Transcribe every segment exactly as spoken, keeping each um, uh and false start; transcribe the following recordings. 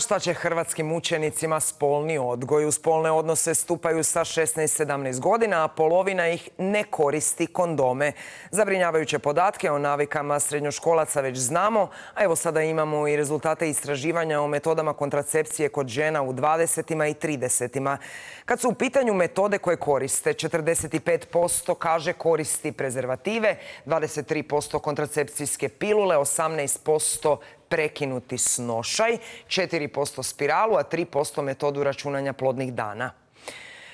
Šta će hrvatskim učenicima spolni odgoj? U spolne odnose stupaju sa šesnaest sedamnaest godina, a polovina ih ne koristi kondome. Zabrinjavajuće podatke o navikama srednjoškolaca već znamo, a evo sada imamo i rezultate istraživanja o metodama kontracepcije kod žena u dvadesetima i tridesetima. Kad su u pitanju metode koje koriste, četrdeset pet posto kaže koristi prezervative, dvadeset tri posto kontracepcijske pilule, osamnaest posto prekinuti snošaj, četiri posto spiralu, a tri posto metodu računanja plodnih dana.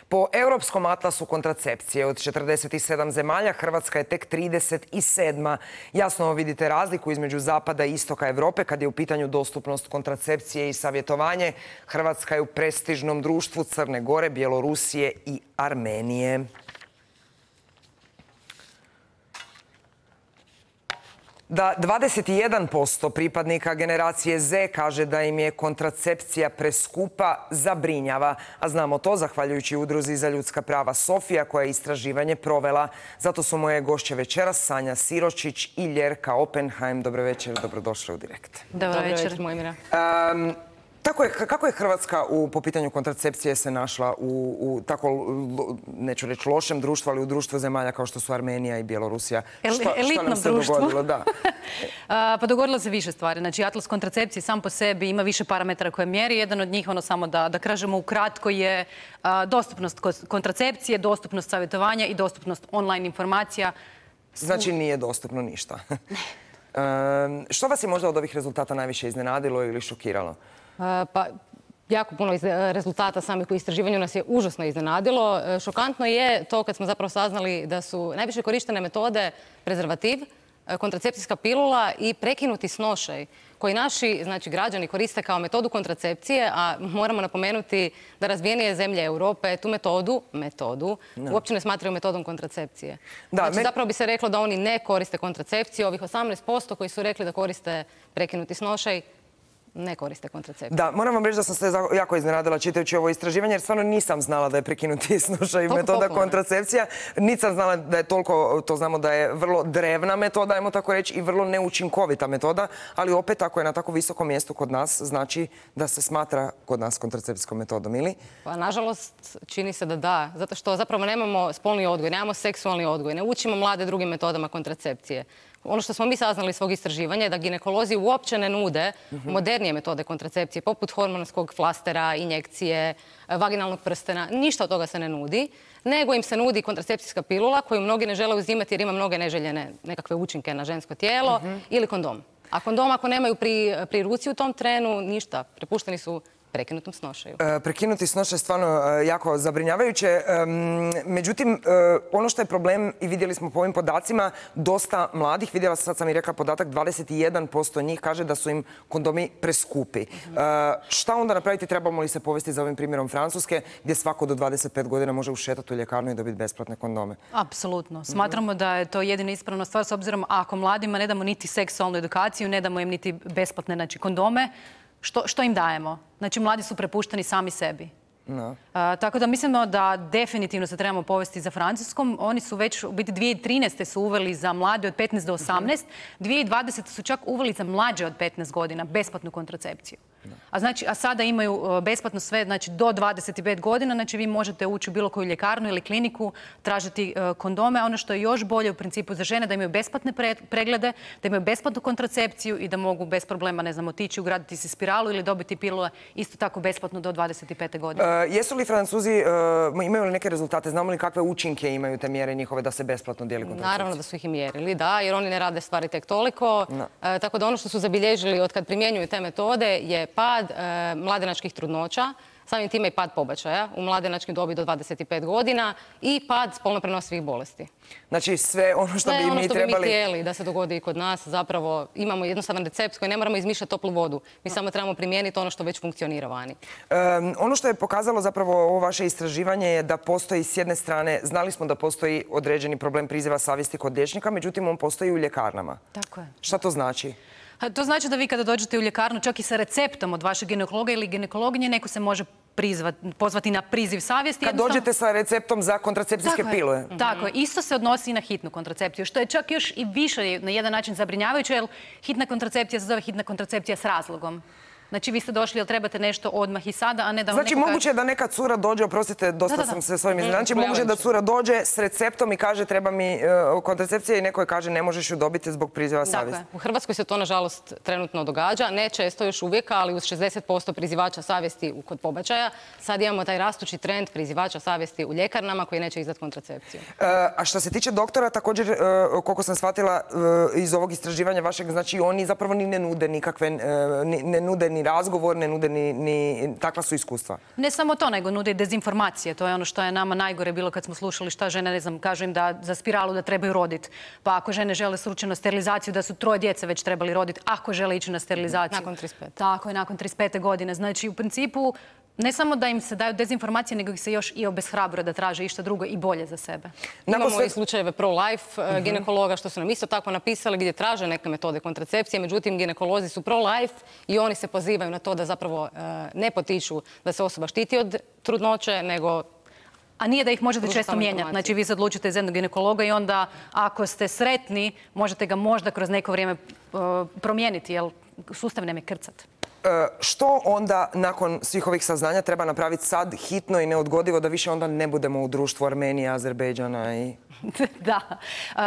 Po Europskom atlasu kontracepcije od četrdeset sedam zemalja, Hrvatska je tek trideset sedma. Jasno vidite razliku između zapada i istoka Europe kad je u pitanju dostupnost kontracepcije i savjetovanje. Hrvatska je u prestižnom društvu Crne Gore, Bjelorusije i Armenije. Da dvadeset jedan posto pripadnika generacije Z kaže da im je kontracepcija preskupa, zabrinjava. A znamo to zahvaljujući Udruzi za ljudska prava Sofija koja je istraživanje provela. Zato su moje gošće večeras Sanja Siročić i Ljerka Oppenheim. Dobro večer, dobrodošli u Direkt. Dobro večer, Mojmira. Um, Tako je, kako je Hrvatska u, po pitanju kontracepcije se našla u, u tako, neću reći lošem društvu, ali u društvu zemalja kao što su Armenija i Bjelorusija? El, šta, elitnom šta nam se društvu. dogodilo? Da. A, pa dogodilo se više stvari. Znači, atlas kontracepcije sam po sebi ima više parametara koje mjeri. Jedan od njih, ono samo da, da kažemo ukratko, je a, dostupnost kontracepcije, dostupnost savjetovanja i dostupnost online informacija. Znači nije dostupno ništa. um, što vas je možda od ovih rezultata najviše iznenadilo ili šokiralo? Pa, jako puno rezultata samih u istraživanju nas je užasno iznenadilo. Šokantno je to kad smo zapravo saznali da su najviše korištene metode prezervativ, kontracepcijska pilula i prekinuti snošaj, koji naši znači, građani koriste kao metodu kontracepcije, a moramo napomenuti da razvijenije zemlje Europe tu metodu, metodu, no. uopće ne smatraju metodom kontracepcije. Da, znači, men... zapravo bi se reklo da oni ne koriste kontracepciju. Ovih osamnaest posto koji su rekli da koriste prekinuti snošaj, ne koriste kontracepciju. Da, moram vam reći da sam se jako iznenadila čitajući ovo istraživanje, jer stvarno nisam znala da je prekinuti snošaj metoda kontracepcija. Nisam znala da je toliko, to znamo da je vrlo drevna metoda, ajmo tako reći, i vrlo neučinkovita metoda, ali opet ako je na tako visokom mjestu kod nas, znači da se smatra kod nas kontracepcijskom metodom, ili? Pa, nažalost, čini se da da, zato što zapravo nemamo spolni odgoj, nemamo seksualni odgoj, ne učimo mlade drugim metodama kontracepcije. Ono što smo mi saznali iz svog istraživanja je da ginekolozi uopće ne nude modernije metode kontracepcije, poput hormonskog flastera, injekcije, vaginalnog prstena. Ništa od toga se ne nudi, nego im se nudi kontracepcijska pilula koju mnogi ne žele uzimati jer ima mnoge neželjene nekakve učinke na žensko tijelo, ili kondom. A kondom ako nemaju pri, pri ruci u tom trenu, ništa. Prepušteni su prekinutom snošaju. E, prekinuti snošaj je stvarno e, jako zabrinjavajuće. E, međutim, e, ono što je problem, i vidjeli smo po ovim podacima, dosta mladih, vidjela sad sam i rekla podatak, dvadeset jedan posto njih kaže da su im kondomi preskupi. E, šta onda napraviti? Trebamo li se povesti za ovim primjerom Francuske, gdje svako do dvadeset pet godina može ušetati u ljekarnu i dobiti besplatne kondome? Apsolutno. Smatramo da je to jedina ispravna stvar, s obzirom ako mladima ne damo niti seksualnu edukaciju, ne damo im niti besplatne znači, kondome, Što, što im dajemo? Znači, mladi su prepušteni sami sebi. No. A, tako da mislimo da definitivno se trebamo povesti za Francuskom. Oni su već, u biti dvije tisuće trinaeste su uveli za mlade od petnaest do osamnaest. dvije tisuće dvadesete su čak uveli za mlađe od petnaest godina besplatnu kontracepciju. No. A, znači, a sada imaju besplatno sve znači, do dvadeset pet godina. Znači, vi možete ući u bilo koju ljekarnu ili kliniku, tražiti uh, kondome. A ono što je još bolje u principu za žene da imaju besplatne pre preglede, da imaju besplatnu kontracepciju i da mogu bez problema, ne znam, otići, ugraditi si spiralu ili dobiti pilule isto tako besplatno do dvadeset pete godine. Uh, jesu li Francuzi, uh, imaju li neke rezultate? Znamo li kakve učinke imaju te mjere njihove da se besplatno dijeli kontracepcija? Naravno da su ih i mjerili, da, jer oni ne rade stvari tek toliko. No. Uh, tako da ono što su zabilježili od kad primjenjuju te metode je pad uh, mladenačkih trudnoća, samim time i pad pobačaja u mladenačkim dobi do dvadeset pet godina i pad spolno prenosivih bolesti. Znači sve ono što bi mi trebali... Sve ono što bi mi htjeli da se dogodi i kod nas, zapravo imamo jednostavan recept koji ne moramo izmišljati toplu vodu. Mi samo trebamo primijeniti ono što već funkcionira vani. Um, ono što je pokazalo zapravo ovo vaše istraživanje je da postoji s jedne strane, znali smo da postoji određeni problem priziva savjesti kod liječnika, međutim on postoji u ljekarnama. Tako je. Šta to znači? To znači da vi kada dođete u ljekarnu, čak i sa receptom od vašeg ginekologa ili ginekologinje, neko se može prizvat, pozvati na priziv savjesti. Kad jednostavno... dođete sa receptom za kontracepcijske tako pilule. Je, tako je. Isto se odnosi i na hitnu kontracepciju, što je čak još i više na jedan način zabrinjavajuće, jer hitna kontracepcija se zove hitna kontracepcija s razlogom. Znači, vi ste došli, jel trebate nešto odmah i sada, a ne da vam Znači, neko kaže- moguće je da neka cura dođe, oprostite, dosta Da, da, da. sam se s ovim iznenađena. Znači, Mm, moguće je da pojavit će. cura dođe s receptom i kaže treba mi e, kontracepcija i neko je kaže ne možeš ju dobiti zbog priziva savjesti. U Hrvatskoj se to, nažalost, trenutno događa. Ne često još uvijek, ali uz šezdeset posto prizivača savjesti kod pobačaja. Sad imamo taj rastući trend prizivača savjesti u ljekarnama koji neće izdati kontracepciju. E, a što se tiče doktora, također, e, koliko sam shvatila e, iz ovog istraživanja vašeg, znači oni zapravo ni ne nude nikakve, e, ni- ne nude ni razgovor, ne nude ni, ni takva su iskustva. Ne samo to, nego nude i dezinformacije. To je ono što je nama najgore bilo kad smo slušali šta žene, ne znam, kažu im da za spiralu da trebaju roditi. Pa ako žene žele slučajno sterilizaciju, da su troje djece već trebali roditi, ako žele ići na sterilizaciju. Nakon trideset pete. Tako je, nakon trideset pete godine. Znači, u principu, ne samo da im se daju dezinformacije, nego ih se još i obeshrabruje da traže išta drugo i bolje za sebe. Nakon Imamo sve- i slučajeve pro-life e, ginekologa što su nam isto tako napisali gdje traže neke metode kontracepcije, međutim ginekolozi su pro-life i oni se pozivaju na to da zapravo e, ne potiču da se osoba štiti od trudnoće, nego A nije da ih možete Pruža često samo mijenjati. informacije. Znači, vi se odlučite za jednog ginekologa i onda, ako ste sretni, možete ga možda kroz neko vrijeme uh, promijeniti, jer sustav nem je krcat. E, što onda nakon svih ovih saznanja treba napraviti sad hitno i neodgodivo da više onda ne budemo u društvu Armenije, Azerbejdžana i... Da. Uh,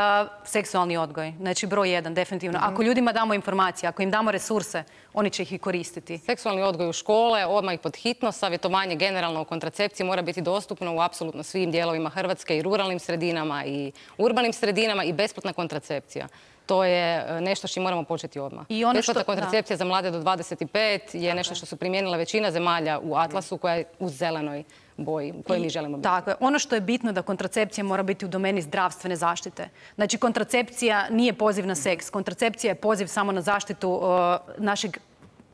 seksualni odgoj. Znači, broj jedan, definitivno. Ako ljudima damo informacije, ako im damo resurse, oni će ih i koristiti. seksualni odgoj u škole, odmah i pod hitno, savjetovanje generalno o kontracepciji mora biti dostupno u apsolutno svim dijelovima Hrvatske i ruralnim sredinama i urbanim sredinama i besplatna kontracepcija. To je e, nešto što moramo početi odmah. I ono Besplatna što- kontracepcija za mlade do dvadeset pet je nešto što su primijenila većina zemalja u Atlasu koja je u zelenoj boji u kojoj mi želimo biti. Tako je. Ono što je bitno da kontracepcija mora biti u domeni zdravstvene zaštite. Znači, kontracepcija nije poziv na seks. Kontracepcija je poziv samo na zaštitu uh, našeg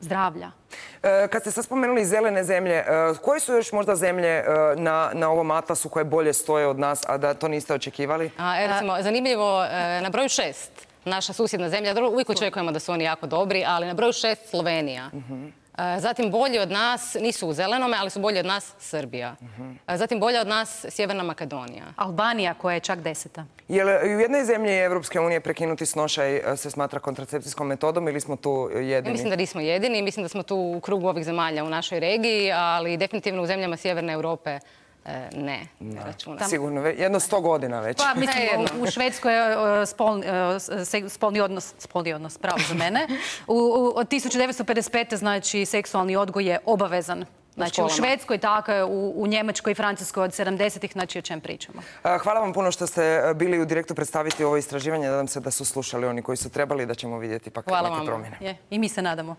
zdravlja. E, Kad ste sad spomenuli zelene zemlje, e, koje su još možda zemlje e, na, na ovom atlasu koje bolje stoje od nas, a da to niste očekivali? A, e, recimo, zanimljivo, e, na broju šest, naša susjedna zemlja, dobro, uvijek očekujemo da su oni jako dobri, ali na broju šest Slovenija. E, Zatim bolji od nas, nisu u zelenome, ali su bolji od nas Srbija. E, Zatim bolja od nas Sjeverna Makedonija. Albanija koja je čak deseta. Je li u jednoj zemlji Evropske unije prekinuti snošaj e, se smatra kontracepcijskom metodom ili smo tu Ja jedini? mislim da nismo jedini, mislim da smo tu u krugu ovih zemalja u našoj regiji, ali definitivno u zemljama Sjeverne Europe e, ne, ne računam. Sigurno, ve- jedno sto godina već. Pa, mislim, jedno. u, u Švedskoj je uh, spolni, uh, se- spolni odnos, spolni odnos, pravo za mene. U, u, od tisuću devetsto pedeset pete. znači, seksualni odgoj je obavezan. Znači, u školama. Švedskoj, tako je, u, u Njemačkoj i Francuskoj od sedamdesetih, znači o čem pričamo. E, Hvala vam puno što ste bili u direktu predstaviti ovo istraživanje. Nadam se da su slušali oni koji su trebali i da ćemo vidjeti pak Hvala neke vama. promjene. Je, i mi se nadamo.